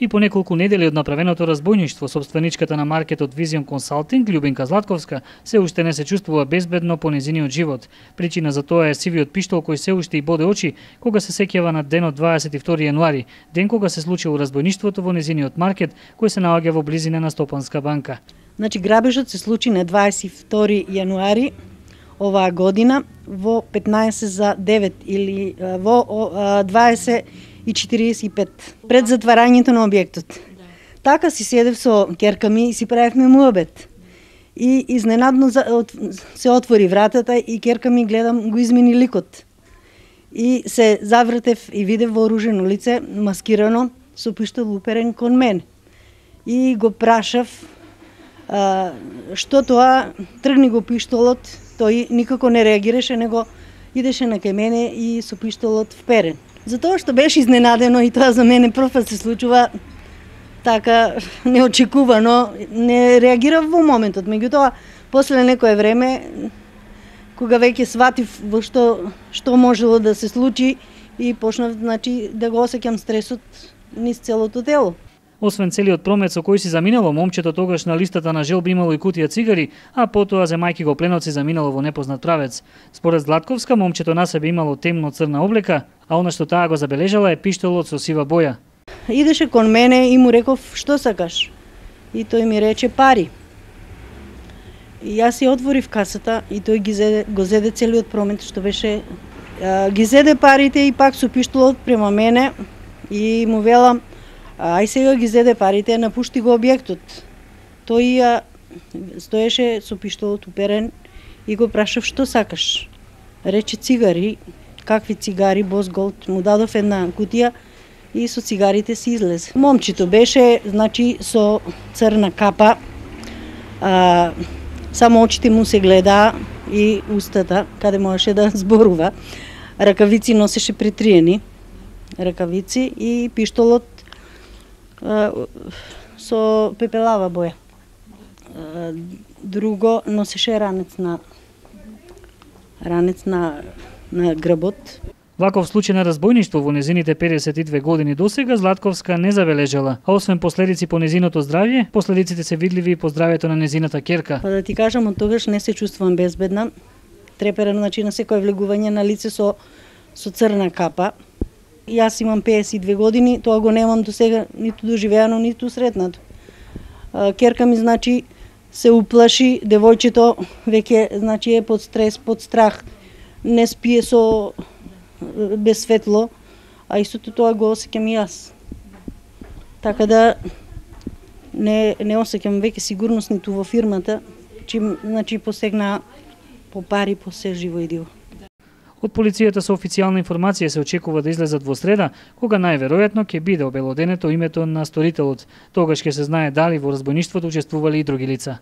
И по неколку недели од направеното разбојништво, собственичката на маркетот Vision Consulting, Љубинка Златковска, се уште не се чувствува безбедно по незиниот живот. Причина за тоа е сивиот пиштол кој се уште и боде очи кога се сеќава на денот 22 јануари, ден кога се случило разбојништвото во незиниот маркет кој се наоѓа во близина на Стопанска банка. Значи грабежот се случи на 22 јануари оваа година во 15 за 9 или во 20:45 пред затварањето на објектот. Така си седев со ќерка ми и си правевме муабет. И изненадно се отвори вратата и ќерка ми гледам го измени ликот. И се завртев и видев вооружено лице, маскирано, со пиштол уперен кон мен. И го прашав што тоа, тргни го пиштолот, тој никако не реагираше, него идеше на кај мене и со пиштолот вперен. Затоа што беше изненадено и тоа за мене прв пат се случува така неочекувано, не реагирав во моментот. Меѓутоа, после некое време, кога веќе сватив во што можело да се случи и почнав, значи, да го осеќам стресот низ целото тело. Освен целиот промет со кој си заминало, момчето тогаш на листата на желби имало и кутија цигари, а потоа земајки го пленот си заминало во непознат правец. Според Златковска, момчето на себе имало темно црна облека, а она што таа го забележала е пиштолот со сива боја. Идеше кон мене и му реков што сакаш? И тој ми рече пари. И јас си отворив касата и тој го зеде целиот промет што беше, ги зеде парите и пак со пиштолот према мене и му велам ај сега ги зеде парите, напушти го објектот. Тој стоеше со пиштолот уперен и го прашав што сакаш. Рече цигари, какви цигари, Босголд, му дадов една кутија и со цигарите си излезе. Момчето беше, значи, со црна капа, само очите му се гледа и устата, каде можеше да зборува. Ракавици носеше притриени, ракавици и пиштолот со пепелава боја. Друго носеше ранец на грбот. Ваков случај на разбојништво во незините 52 години досега Златковска не забележала, а освен последици по незиното здравје, последиците се видливи и по здравјето на незината ќерка. Па да ти кажам, од тогаш не се чувствувам безбедна. Треперам, значи, на секое влегување на лице со црна капа. Јас имам 52 години, тоа го немам до сега ниту доживеано, ниту сретнато. Ќерка ми, значи, се уплаши, девојчето веќе, значи, е под стрес, под страх, не спие без светло, а истото тоа го осеќам и јас. Така да не осеќам веќе сигурност ниту во фирмата, чим, значи, посегна по пари, по се живо и диво. Од полицијата со официјална информација се очекува да излезат во среда, кога најверојатно ќе биде обелоденето името на сторителот. Тогаш ќе се знае дали во разбојништвото учествувале и други лица.